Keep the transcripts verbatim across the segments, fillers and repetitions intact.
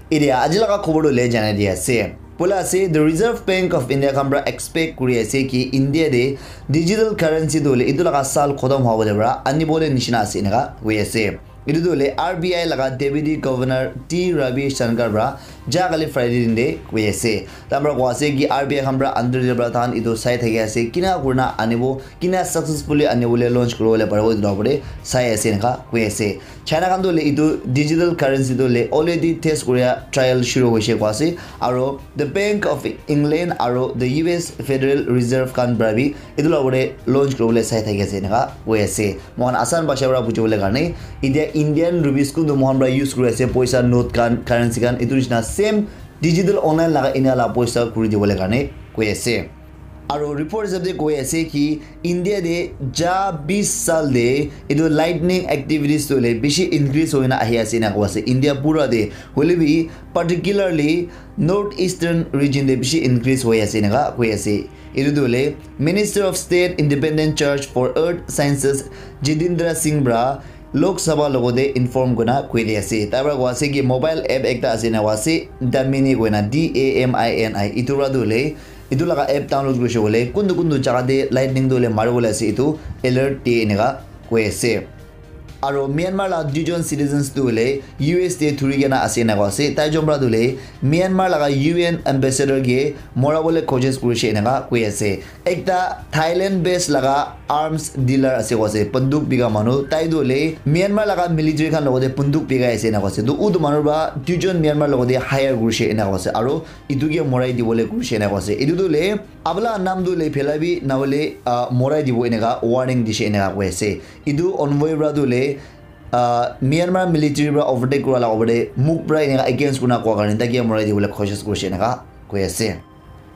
Etia aji laga khobor tu le janai di ase. Bola ase, the Reserve Bank of India khan pra expect kuri ase ki India de digital currency tu le itu laga sal khotom hwa bole pra ani bole nishina ase eneka koi ase. Itu tu le R B I laga Deputy Governor T Ravi Shankar pra ja kali Friday din de koi ase. Tamra koi ase ki R B I khan pra under de pra than itu sai thaki ase. Kina kurna anibo, kina successfully ani bole launch kuri bole paribo itu opor de sai ase eneka koi ase. China khan tu le itu digital currency tu le already test kuria trial shuru hoise koi ase. Aro the Bank of England aro the U S Federal Reserve khan pra bi itu la opor de launch kuri bole sai thaki ase eneka koi ase. Mohan asan bhasha pra buji bole karne, itia Indian rupees kuntu mohan pra use kuri ase, poisa note khan, currency khan, itu nishina same digital online laga India la poisa kuri di bole karne koi ase. Aro report hisab de koi ase ki India de ja bis sal de itu lightning activities tu le bishi increase hoina ahi ase na koi ase. India pura de hoile bi particularly north eastern region de bishi increase hoi ase na koi ase. Itu tu le Minister of State Independent Charge for Earth Sciences Jitendra Singh pra Lok Sabha logo de inform kurina koi di ase. Tai pra koi ase ki mobile app ekta ase na koi ase, Damini koina, D A M I N I. Itu pra tu le itu laga app download kurishe koile kuntu kuntu jaga te lightning tu hoile mari bole ase itu alert diye eneka koi ase. Aro Myanmar la duijon citizens tu hoile U S te thuri kena ase eneka koi ase. Tai jon pra tu hoile Myanmar laga U N ambassador ke mora bole koshish kurishe eneka koi ase. Ekta Thailand based laga arms dealer ase koi ase, banduk bika manu. Tai tu hoile Myanmar laga military khan logote banduk bikai ase eneka koi ase. Tu utu manu pra duijon Myanmar logote hire kurishe eneka koi ase. Aro itu ke morai dibole kurishe eneka koi ase. Itu tu hoile abla nam tu hoile phela bi na hoile, ah, morai dibo eneka warning dishe eneka koi ase. Itu envoy pra tu hoile, ah, Myanmar military pra overtake kura la opor de muk pra eneka against kurina koa karne tai ke morai dibole koshish kurishe eneka koi ase.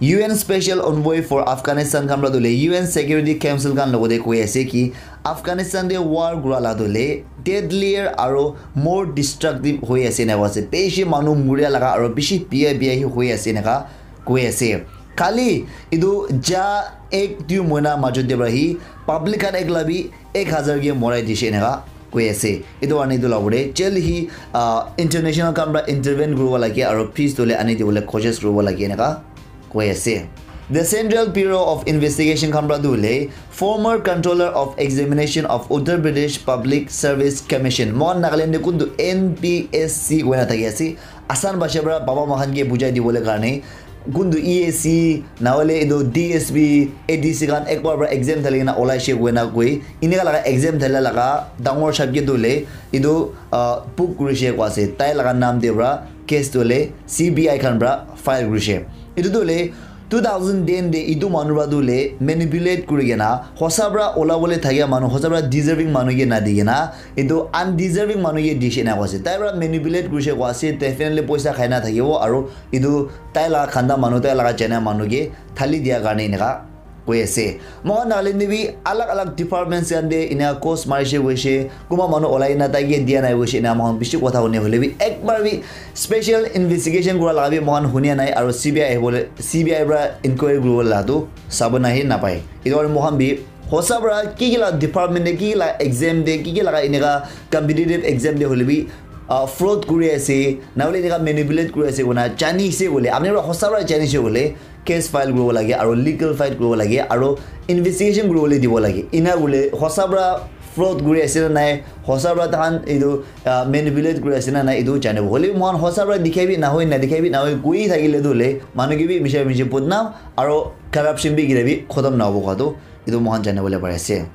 U N Special Envoy for Afghanistan khan pra tu hoile U N Security Council khan logote koi ase ki Afghanistan de war kura la tu hoile deadlier aro more destructive hoi ase eneka koi ase. Bishi manu muria laga aro bishi bia bia hi hoi ase eneka koi ase. Khali itu ja ek dui mohina majot de pra hi public khan ekla bi ek hazar ke morai dishe eneka koi ase. Itu karne itu la opor de jail hi, ah, international khan pra intervene kuribo lage aro peace tu hoile ani dibole koshish kuribo lage eneka koi ase. The Central Bureau of Investigation khan pra tu hoile former Controller of Examination of Uttar Pradesh Public Service Commission, mohan Nagaland de kuntu N P S C koina thaki ase. Asan bhasha pra baba mohan ke bujai dibole karne kuntu E A C, na hoile etu D S P, A D C khan ekbar pra exam thali kena olai she koina koi, eneka laga exam thala laga dangor sahab ke tu hoile etu, ah, book kurishe koi ase. Tai laga nam de pra case tu hoile C B I khan pra file kurishe. Etu tu hoile two thousand ten de etu manu pra tu hoile manipulate kuri kena hosa pra ola bole thakia manu, hosa pra deserving manu ke na di kena etu undeserving manu ke dishe eneka koi ase. Tai pra manipulate kurishe koi ase, definitely poisa khai na thakibo aro etu tai laga khanda manu, tai laga chena manu ke thali dia karne eneka koi ase. Mohan Nagaland te bi alag alag departments khan te eneka cost marishe koishe, kunba manu olai na tai ke dia nai koishe, eneka mohan bishi kotha hune hoile bi ekbar bi special investigation kura laga bi mohan hunia nai aro C B I ahibole, C B I pra inquiry kuribo la tu sabo nahi napai. Etu karne mohan bi hosa pra ki ki la department te, ki ki la exam te, ki ki laga eneka competitive exam te hoile bi, ah, fraud kuri ase, na hoile eneka manipulate kuri ase koina jani se koile, apni pra hosa pra jani se koile, case file kuribo lage aro legal fight kuribo lage aro investigation kuribole dibo lage. Ena hoile hosa pra fraud kuri ase na nai, hosa pra tahan etu, ah, manipulate kuri ase na nai, etu janibo. Hoile bi mohan hosa pra dikhai bi nahoi, nadikhai bi nahoi koi thakile tu hoile manu ke bi misha misha bodnam aro corruption bi kile bi khotom nahobo koi tu etu mohan janibole pari ase.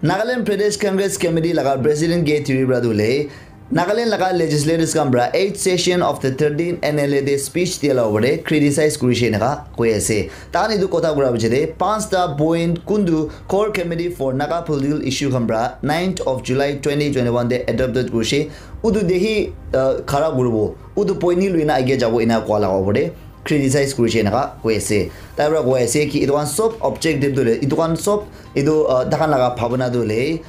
Nagaland Pradesh Congress Committee laga President K Tiripura tu hoile Nagaland laga legislators khan pra eighth session of the thirteenth N L A te speech dia la opor te criticize kurishe eneka koi ase. Tahan etu kotha kura piche te panchta point kuntu Core Committee for Naga Political Issue khan pra ninth of July twenty twenty-one te adopted kurishe. Utu te hi, uh, khara kuribo. Utu point hi luina age jabo ena koa laga opor te criticize kurishe eneka koi ase. Tai pra koi ase ki etu khan sob objective tu hoile, etu khan sob etu, uh, tahan laga bhabana tu hoile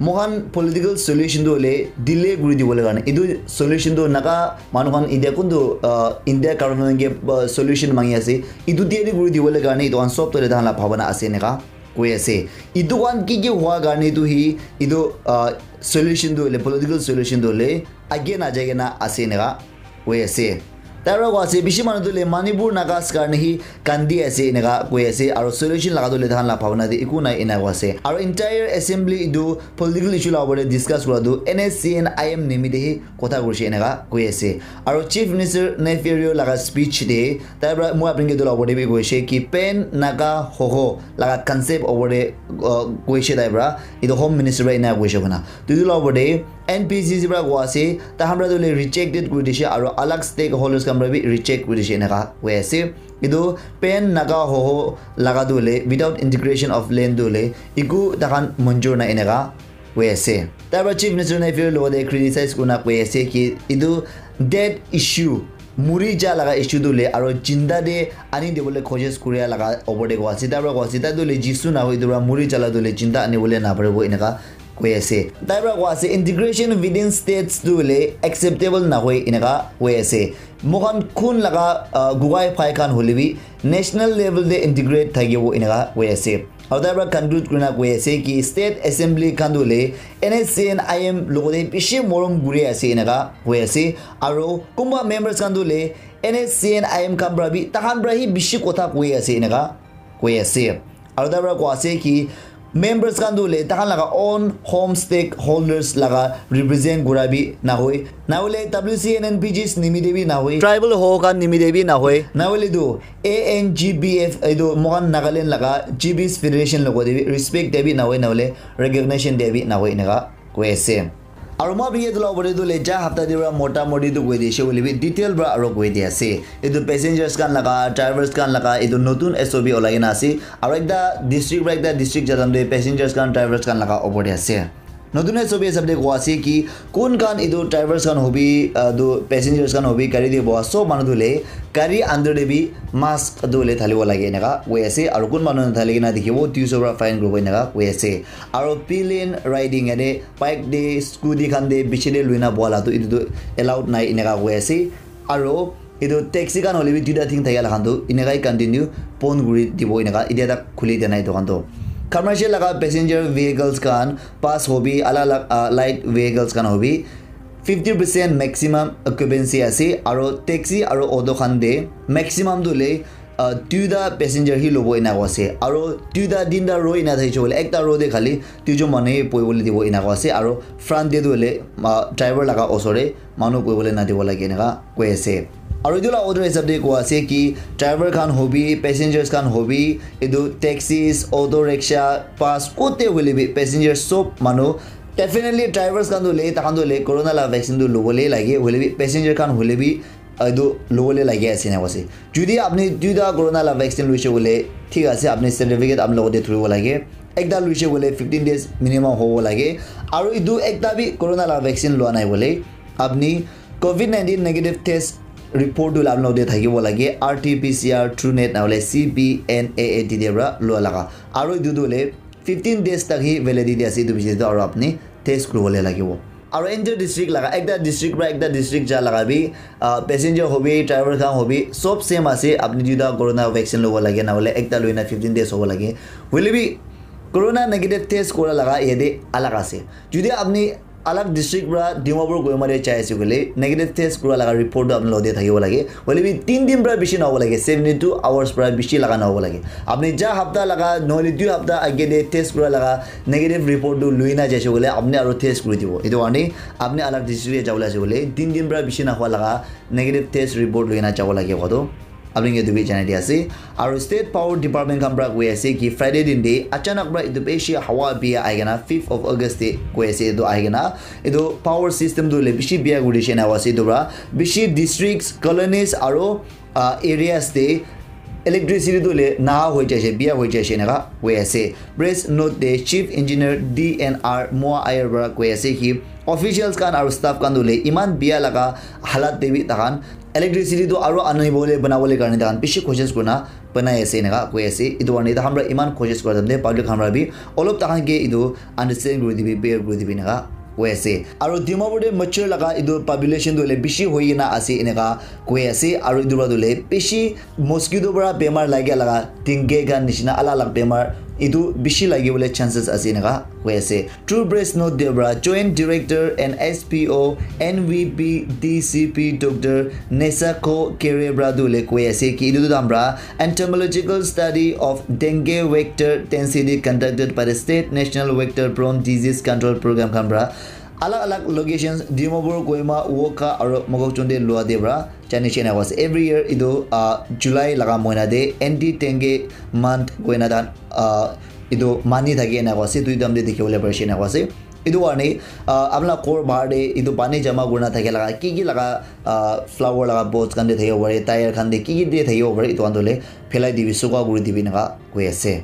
moikhan political solution tu hoile delay kuri dibole karne, etu solution tu Naga manu khan India kuntu, uh, India government ke, uh, solution mangi ase, etu delay kuri dibole karne etu khan sob tu hoile tahan la bhabana ase eneka koi ase. Etu khan ki ki hua karne tu hi etu, uh, solution tu hoile, political solution tu hoile age na jai kena ase eneka koi ase. Tai para koa ase bishi manu tu le Manipur Nagas karne hi kandi ase eneka koi ase, aro solution laga tu le tahan la bhabna te eku nai eneka koa ase. Aro entire assembly etu political issue la opor te discuss kura tu N S C N I M nimite hi kotha kurishe eneka koi ase. Aro Chief Minister Neiphiu Rio laga speech te tai para moi apni ke etu la opor te bi koishe ki Pan Naga Hoho laga concept opor te, uh, koishe tai para, etu Home Minister para ena koishe koina. Tu etu la opor te N P C C para koa ase, tai khan para tu le rejected kuri dishe aro alag stakeholders khan para bi reject kuri dishe eneka koi ase. Etu Pan Naga Hoho laga tu le without integration of land tu le eku tai khan manjur nai eneka koi ase. Tai para Chief Minister Neiphiu Rio logote criticize kurina koi ase ki etu dead issue, muri ja laga issue tu le aro jinda te ani dibole koshish kuria laga opor te koa ase. Tai para koa ase tai tu le Jisu na hoi etu para muri ja la tu le jinda ani bole na paribo eneka koi ase. Tai para koa ase integration within states tu le acceptable na hoi eneka koi ase. Moikhan khun laga, uh, gugai phai khan hole bi national level te integrate thakibo eneka koi ase. Aro tai para conclude kurina koi ase ki state assembly khan tu le N S C N I M logote bishi morom kuri ase eneka koi ase. Aro kunba members khan tu le N S C N I M khan para bi tahan para hi bishi kotha koi ase eneka koi ase. Aro tai para koa ase ki members khan tu le tahan laga own home stakeholders laga represent kura bi na hoi, na hole W C N N P Gs nimite bi na hoi, tribal ho khan nimite bi na hoi, na hole tu A N G B F etu moikhan Nagaland laga G Bs Federation logote bi respect de bi na hoi, na hole recognition de bi na hoi eneka koi ase. Aro moi apni ke etu la opor te tu le ja hapta te para mota moti tu koi dishe hoile bi detail para aro koi di ase. Etu passengers khan laga, drivers khan laga etu notun S O P olai kena ase. Aro ekta district para ekta district ja time te passengers khan, drivers khan laga opor te ase. Notun S O P hisab te koa ase ki kun khan etu drivers khan hobi, ah, etu passengers khan hobi gari te boha sob manu tu le gari under te bi mask tu le thalibo lage eneka koi ase. Aro kun manu nathali kena dikhibo, duiso para fine kuribo eneka koi ase. Aro pillion riding yate bike te, scooty khan te biche te luina boa la tu etu tu allowed nai eneka koi ase. Aro etu taxi khan hole bi duita thing thakia la khan tu eneka hi continue bon kuri dibo eneka etia tak khuli dia nai etu khan tu. Commercial laga passenger vehicles khan, bus hobi, alag alag, ah, light vehicles khan hobi fifty percent maximum occupancy ase. Aro taxi aro auto khan te maximum tu le, ah, duita passenger hi lobo eneka ase. Aro duita tinta row eneka thakishe koile ekta row te khali duijon manu hi bohi bole dibo eneka ase. Aro front te tu hoile, ah, driver laga osor te manu bohi bole na dibo lage eneka koi ase. Aro etu la order hisab te koa ase ki driver khan hobi, passengers khan hobi, etu taxis, auto rickshaw, bus, kote hoile bi passengers sob manu, definitely drivers khan tu hoile, tai khan tu hoile corona la vaccine tu lobo le lage, hoile bi passenger khan hoile bi etu lobo le lage ase eneka ase. Jodi apni duita corona la vaccine loise koile thik ase, apni certificate apni logote thoribo lage. Ekta loise koile fifteen days minimum hobo lage. Aro etu ekta bi corona la vaccine loa nai koile apni covid nineteen negative test report tu apni logote thakibo lage, R T P C R, TrueNat na hole C P N A A T te para loa laga. Aro etu tu hoile fifteen days tak hi validity ase etu piche te, aro apni test kuribole lagibo. Aro inter district laga, ekta district para ekta district ja laga bi, ah, passenger hobi, driver khan hobi, sob same ase. Apni duita corona vaccine lobo lage, na hole ekta loina fifteen days hobo lage. Hoile bi corona negative test kura laga yate alag ase. Jodi apni alag district para Dimapur Kohima te jai ase koile negative test kura laga report tu apni logote thakibo lage. Hoile bi tin din para bishi nahobo lage, seventy two hours para bishi laga nahobo lage. Apni ja hapta laga nohole dui hapta age te test kura laga negative report tu lui na jaise koile apni aro test kuri dibo. Etu karne apni alag district te jabole ase koile tin din para bishi nahua laga negative test report lui na jabo lage koa tu apni ke etu bi janai di ase. Aro State Power Department khan para koi ase ki Friday din te achanak para etu bishi hawa bia ahi kena fifth of August te koi ase etu ahi kena etu power system tu hoile bishi bia kuri dishe na ase etu para bishi districts, colonies aro, ah, areas te electricity tu hoile naha hoi jaise, bia hoi jaise eneka koi ase. Press note te Chief Engineer D N R Moa Ayer para koi ase ki officials khan aro staff khan tu hoile eman bia laga halat te bi takhan electricity tu aro anibole banabole karne takhan bishi koshish kurina banai ase eneka koi ase. Etu karne takhan para eman koshish kura time te public khan para bi olop takhan ke etu understand kuri dibi, bear kuri dibi eneka koi ase. Aro Dimapur te mature laga etu population tu hoile bishi hoi kena ase eneka koi ase. Aro etu para tu hoile bishi mosquito para bemar lagia laga dengue khan nishina alag alag bemar etu bishi lagi bole chances ase eneka koi ase. True Press note te para Joint Director and S P O N V P D C P Doctor Nesako Kere para tu le koi ase ki etu tu dam para entomological study of dengue vector density conducted by the State National Vector Borne Disease Control Program khan para alag alag locations Dimapur, Kohima, Wokha aru Mokokchung te lua te para jani shena koi ase. Every year etu uh, July laga moina te anti dengue month koina dan uh, etu mani thaki ena koi ase, dui dam te dikhi bole pari shena koi ase. Etu karne uh, apna ghor bahar te etu pani jama kurina thaki laga ki ki laga uh, flower laga pots khan te thakibo pare, tyre khan te ki ki te thakibo pare, etu khan tu le phelai dibi, sukha kuri dibi eneka koi ase.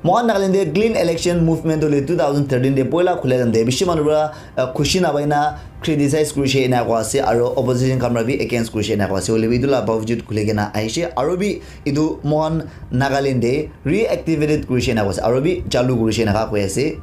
Mohan Nagaland te clean election movement tu le two thousand thirteen te poila khule time te bishi manu para uh, khushi napai na criticize kurishe ena koi ase aru opposition khan para bi against kurishe ena koi ase. Hoile bi etu la bavujud khule kena ahishe aru bi etu Mohan Nagaland te reactivated kurishe ena koi ase aru bi chalu kurishe ena koi ase.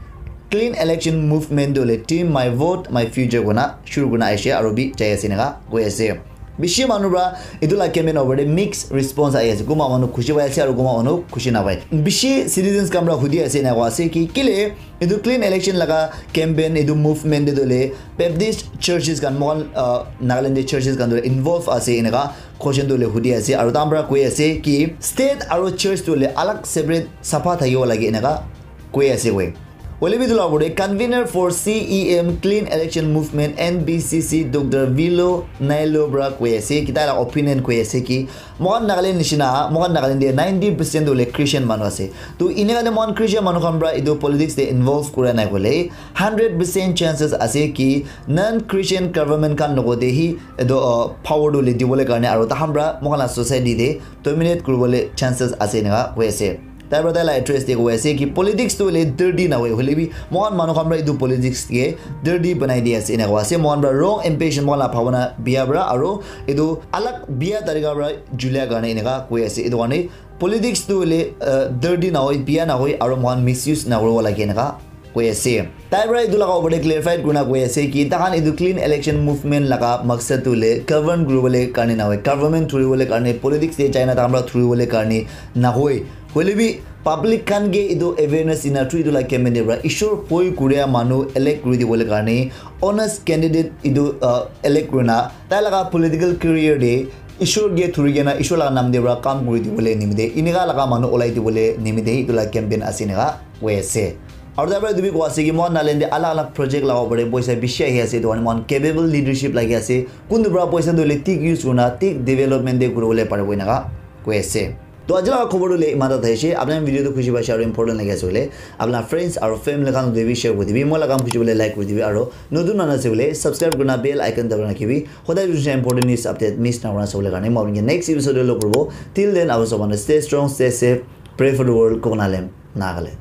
Clean election movement tu le Team My Vote My Future kona shuru kurina ahishe aru bi jai ase eneka koi ase. Bishi manu para etu la campaign over te mixed response ahi ase. Kunba manu khushi pai ase aru kunba manu khushi napai. Bishi citizens khan para hudi ase eneka koi ase ki kile etu clean election laga campaign etu movement te tu le Baptist churches khan mohan uh, Nagaland te churches khan tu le involve ase eneka question tu le hudi ase aru tahan para koi ase ki state aru church tu le alag separate sapha thakibo lage eneka koi ase koi. Hoile bi etu la opor te convener for C E M Clean Election Movement N B C C Doctor Vilo Nailo para koi ase ki tai la opinion koi ase ki mohan Nagaland nishina mohan Nagaland te ninety percent tu le Christian manu ase. To eneka te mohan Christian manu khan para etu politics te involve kura nai koile hundred percent chances ase ki non Christian government khan logote hi etu uh, power tu le dibole karne aru tahan para mohan la society te dominate kuribole chances ase eneka koi ase. Tai para tai la address te koi ase ki politics tu hoile dirty na hoi, hoile bi mohan manu khan para etu politics ke dirty banai di ase eneka koi ase. Mohan para wrong impression mohan la bhabana bia para aru etu alag bia tarika para julia karne eneka koi ase. Etu karne politics tu hoile uh, dirty na hoi, bia na hoi aru mohan misuse na kuribo lage eneka koi ase. Tai para etu laga opor te clarified kurina koi ase ki tahan etu clean election movement laga maksad tu le govern kuribole karne na hoi, government thuribole karne, politics te jaina tahan para thuribole karne na hoi. Hoile bi public khan ke etu awareness dina through etu la campaign te para Ishwar bhoi kuria manu elect kuri dibole karne honest candidate etu uh, elect kurina tai laga political career te Ishwar ke thuri kena Ishwar laga nam te para kam kuri dibole nimite eneka laga manu olai dibole nimite etu la campaign ase eneka koi ase. Aru tai para etu bi koi ase ki mohan Nagaland te alag alag project laga opor te poisa bishi ahi ase, etu karne mohan capable leadership lagi ase. Kuntu para poisa tu le thik use kurina thik development te kuribole paribo eneka koi ase. To aji laga khobor tu le iman ta thaishe. Apni khan video tu khushi paishe aru important lagi ase hoile apna friends aru family khan tu bi share kuri dibi. Moi laga kam khushi bole like kuri dibi aru notun manu ase hoile subscribe kurina bell icon dabana rakhibi. Hodai dusra important news update miss na kurina sabole karne moi apni next episode te log kuribo. Till then, I was one, stay strong, stay safe, pray for the world, Kokonalem, Nagaland.